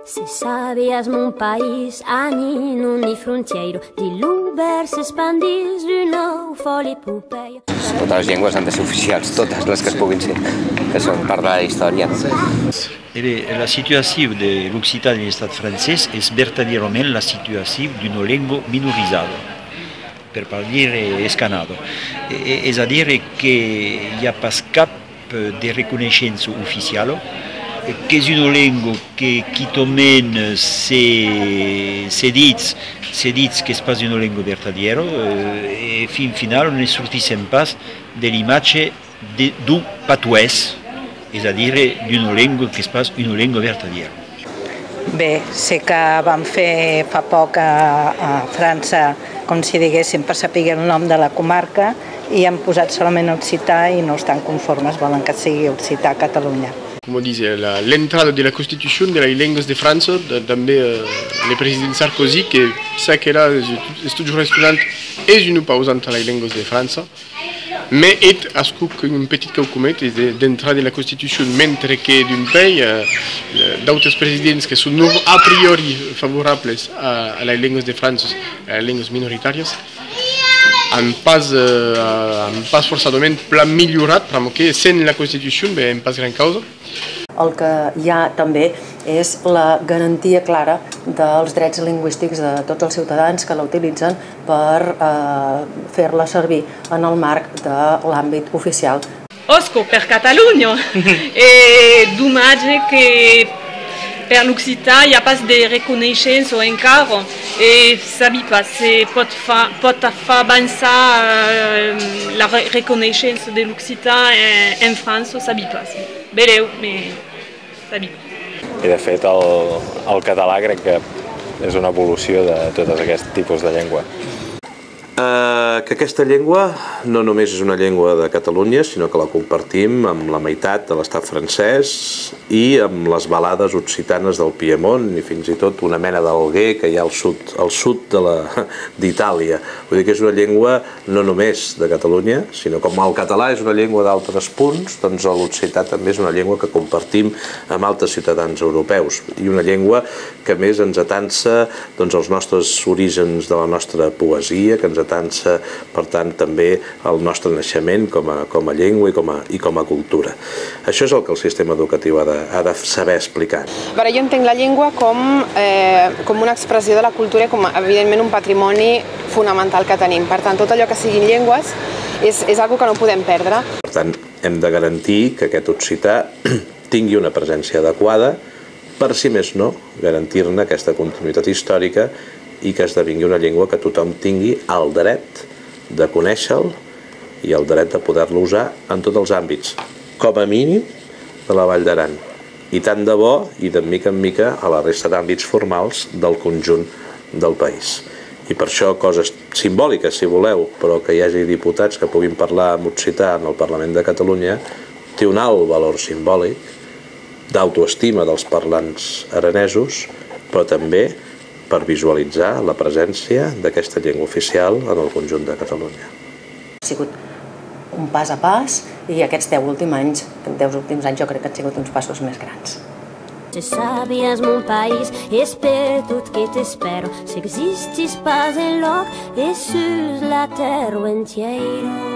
Se sabias mon país, ani non ni frontiero, di l'Uber s'expandís d'una folle epopeia. Totes les llengües han de ser oficials, totes les que es puguin ser, que són part de la història. La situació de l'Occità de l'estat francès és verdaderament la situació d'una llengua minoritzada, per parlar escanado. És a dir, que hi ha pas cap de reconeixença oficial, que és una llengua que quitament se dit que és pas una llengua verdadera, i fin final no sortissem pas de l'imatge d'un patuès, és a dir, d'una llengua que és pas una llengua verdadera. Bé, sé que vam fer fa poc a França, com si diguéssim, per saber el nom de la comarca, i han posat solament occità i no estan conformes, volen que sigui occità a Catalunya. Como dice, l'entrada de la Constitución de las lenguas de Francia, también el presidente Sarkozy, que sa que era estudio restaurant, és una pausante a les lenguas de Francia, mais est un petit document d'entrada de la Constitution, mentre que d'un pays, d'autres presidents que són a priori favorables a les lenguas de Francia, a les lenguas minoritàries, han pas forçadament pla millorat, perquè sense la Constitució en pas gran causa. El que hi ha també és la garantia clara dels drets lingüístics de tots els ciutadans que la utilitzen per fer-la servir en el marc de l'àmbit oficial. Osco per Catalunya, e dommage que per l'Occità hi ha pas de reconeixença encara, e sabi pas, pot fer avançar la reconeixença de l'Occità en França, sabi pas. Vereu, sabi. I de fet el català crec que és una evolució de tots aquests tipus de llengua. Que aquesta llengua no només és una llengua de Catalunya, sinó que la compartim amb la meitat de l'estat francès i amb les balades occitanes del Piemont i fins i tot una mena d'alguer que hi ha al sud d'Itàlia. Vull dir que és una llengua no només de Catalunya, sinó com el català és una llengua d'altres punts, doncs l'occità també és una llengua que compartim amb altres ciutadans europeus i una llengua que més ens atansa els nostres orígens de la nostra poesia, que ens atansa, per tant, també el nostre naixement com a llengua i com a cultura. Això és el que el sistema educatiu ha de saber explicar. Jo entenc la llengua com una expressió de la cultura i com, evidentment, un patrimoni fonamental que tenim. Per tant, tot allò que siguin llengües és una cosa que no podem perdre. Per tant, hem de garantir que aquest occità tingui una presència adequada per, si més no, garantir-ne aquesta continuïtat històrica i que esdevingui una llengua que tothom tingui el dret de conèixer-lo i el dret de poder-lo usar en tots els àmbits, com a mínim de la Vall d'Aran, i tant de bo i de mica en mica a la resta d'àmbits formals del conjunt del país. I per això coses simbòliques, si voleu, però que hi hagi diputats que puguin parlar en occità en el Parlament de Catalunya, té un alt valor simbòlic d'autoestima dels parlants aranesos, però també per visualitzar la presència d'aquesta llengua oficial en el conjunt de Catalunya. Ha sigut un pas a pas i aquests 10 últims anys jo crec que han sigut uns passos més grans. Se sabies mon país, és per tot que t'espero, si existis pas enlloc, és sur la terra entiera.